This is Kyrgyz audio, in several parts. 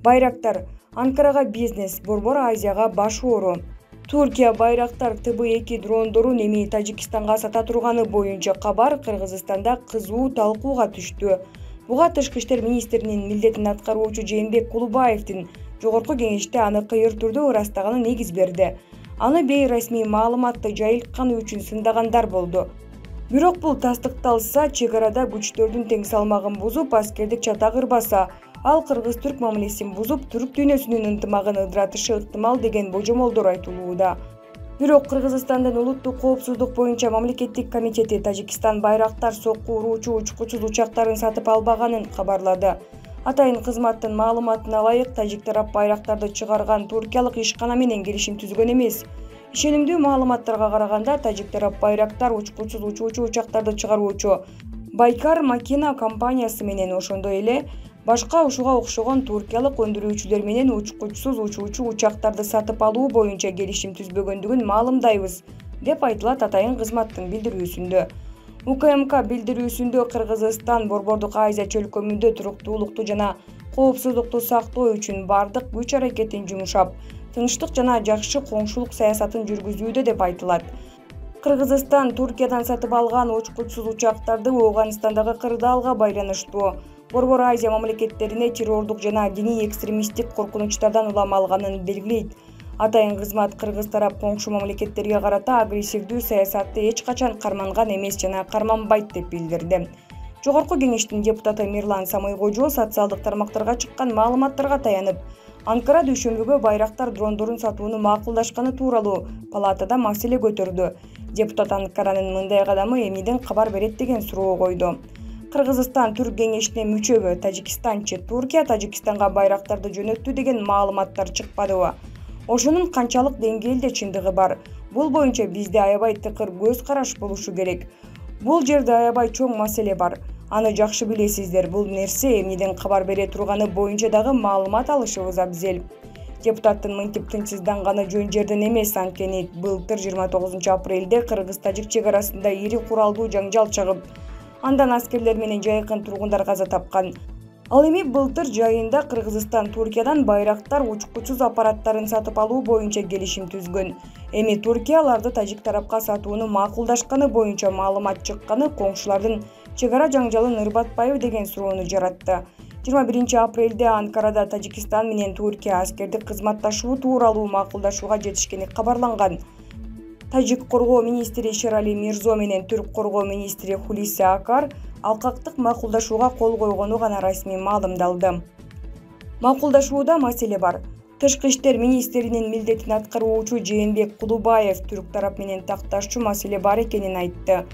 Байрактар Анкарага бизнес, Борбор Азияга баш оору. Туркия Байрактар ТБ2 дрондорун эми Тажикстанга сата турганы боюнча кабар Кыргызстанда кызуу талкууга түштү. Буга Тышкы иштер министринин милдетин аткаруучу Жээнбек Кулубаевдин жогорку кеңеште аны кыйыр түрдө ырастаганы негиз берди. Аны бейресмий маалыматты жайылтканы үчүн сындагандар болду. Бирок бул тастыкталса, чек арада күчтөрдүн тең салмагын бузуп, аскердик чата кырбаса, ал кыргыз-түрк мамилесин бузуп, түрк дүйнөсүнүн ынтымагын ыдыратышы ыктымал деген божомолдор айтылууда. Бирок Кыргызстандын улуттук коопсуздук боюнча мамлекеттик комитети Тажикстан Байрактар сокку уруучу учкучсуз учактарын сатып албаганын кабарлады. Атайын кызматтын маалыматына ылайык, тажик тарап байрактарды чыгарган туркиялык ишкана менен келишим түзгөн эмес. Ишенимдүү маалыматтарга караганда, тажик тарап Байрактар учкучсуз учуучу учактарды чыгаруучу Байкар Макина компаниясы менен, ошондой эле башка ушуга окшогон туркиялык өндүрүүчүлөр менен учкучсуз учуучу учактарды сатып алуу боюнча келишим түзбөгөндүгүн маалымдайбыз, деп айтылат атайын кызматтын билдирүүсүндө. УКМК билдирүүсүндө Кыргызстан Борбордук Азия чөлкөмүндө туруктуулукту жана коопсуздукту сактоо үчүн бардык күч аракетин жумшап, тынчтык жана жакшы коңшулук саясатын жүргүзүүдө деп айтылат. Кыргызстан Туркиядан сатып алган учкучсуз учактарды Ооганстандагы кырдаалга байланыштуу Борбор Азия мамлекеттерине террордук жана диний экстремисттик коркунучтардан улам алганын белгилейт. Атайын кызмат Кыргыз тарап коңшу мамлекеттерге карата агрессивдүү саясатты эч качан карманган эмес жана карманбайт деп билдирди. Жогорку кеңештин депутаты Мирлан Самойкожо социалдык тармактарга чыккан маалыматтарга таянып, Анкара дүйшөмбүгө Байрактар дрондорун сатууну макулдашканы тууралуу палатада маселе көтөрдү. Депутат Анкаранын мындай кадамы эмнеден кабар берет деген суроо койду. Кыргызстан Түрк кеңешине мүчөбү? Тажикстанчы Туркия Тажикстанга байрактарды жөнөттү деген маалыматтар чыкпадыбы? Ошонун канчалык деңгээлде чындыгы бар? Бул боюнча бизде аябай тыкыр көз караш болушу керек. Бул жерде аябай чоң маселе бар. Аны жакшы билесиздер. Бул нерсе эмнеден кабар бере турганы боюнча дагы маалымат алышыбыз абзел. Депутаттын мынтип тынчсызданганы жөн жерден эмес, анткени былтыр 29 апрелде Кыргыз-Тажик чек арасында ири куралдуу жаңжал чыгып, андан аскерлер менен жайкын тургундар каза тапкан. Ал эми былтыр жайында Кыргызстан Туркиядан Байрактар учкучсуз аппараттарын сатып алуу боюнча келишим түзгөн. Эми Туркия аларды тажик тарапка сатууну макулдашканы боюнча маалымат чыкканы коңшулардын чек ара жаңжалын ырбатпайбы деген суроону жаратты. 21 апрелде Анкарада Тажикстан менен Туркия аскердик кызматташуу тууралуу макулдашууга жетишкени кабарланган. Тажик коргоо министри Шерали Мирзо менен түрк коргоо министри Хулиси Акар алкактык макулдашууга кол койгону гана расмий маалымдалды. Макулдашууда маселе бар. Тышкы иштер министринин милдетин аткаруучу Жээнбек Кулубаев түрк тарап менен такташчу маселе бар экенин айтты.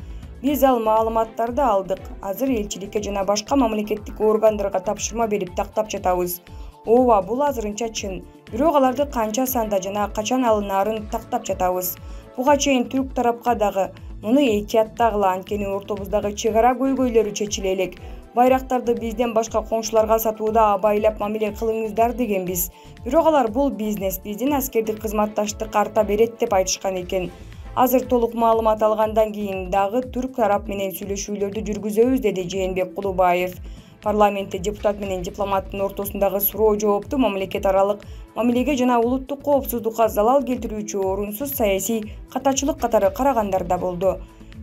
Биз ал маалыматтарды алдык. Азыр элчиликке жана башка мамлекеттик органдарга тапшырма берип тактап жатабыз. Ооба, бул азырынча чын. Бирок аларды канча санда жана качан алынаарын тактап жатабыз. Буга чейин түрк тарапка дагы муну этияттагыла, анткени ортобуздагы чек ара көйгөйлөрү чечиле элек. Байрактарды бизден башка коңшуларга сатууда абайлап мамиле кылыңыздар дегенбиз. Бирок алар бул бизнес, биздин аскердик кызматташтык арта берет деп айтышкан экен. Азыр толук маалымат алгандан кийин дагы түрк тарап менен сүйлөшүүлөрдү жүргүзөбүз, деди Жээнбек Кулубаев. Парламентте депутат менен дипломаттын ортосундагы суроо жоопту мамлекет аралык мамилеге жана улуттук коопсуздукка залал келтирүүчү орунсуз саясий катачылык катары карагандар да болду.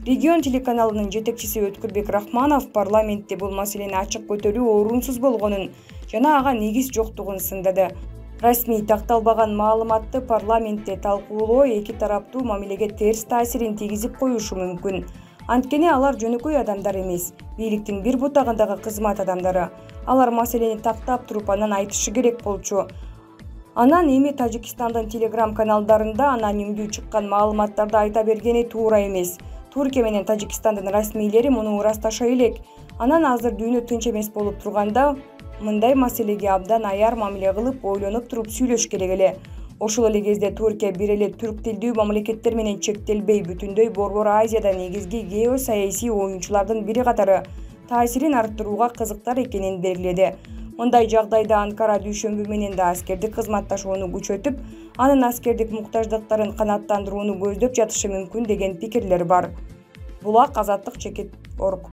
Регион телеканалынын жетекчиси Өткүрбек Рахманов парламентте бул маселени ачык көтөрүү орунсуз болгонун жана ага негиз жоктугун сындады. Расмий такталбаган маалыматты парламентте талкуулоо эки тараптуу мамилеге терс таасирин тийгизип коюшу мүмкүн. Анткени алар жөнөкөй адамдар эмес, бийликтин бир бутагындагы кызмат адамдары. Алар маселени тактап туруп анан айтышы керек болчу. Анан эми Тажикстандын телеграм каналдарында анонимдүү чыккан маалыматтарды айта бергени туура эмес. Туркия менен Тажикстандын расмийлери муну ырасташа элек. Анан азыр дүйнө тынч эмес болуп турганда мындай маселеге абдан аяр мамиле кылып, ойлонуп туруп сүйлөш керек эле. Ошол эле кезде Туркия бир эле түрк тилдүү мамлекеттер менен чектелбей, бүтүндөй Борбор Азияда негизги геосаясий оюнчулардын бири катары таасирин арттырууга кызыктар экенин белгиледи. Мындай жагдайда Анкара дүйшөмбү менен да аскердик кызматташууну күчөтүп, анын аскердик муктаждыктарын канааттандырууну көздөп жатышы мүмкүн деген пикирлер бар. Булак Азаттык Чекит.org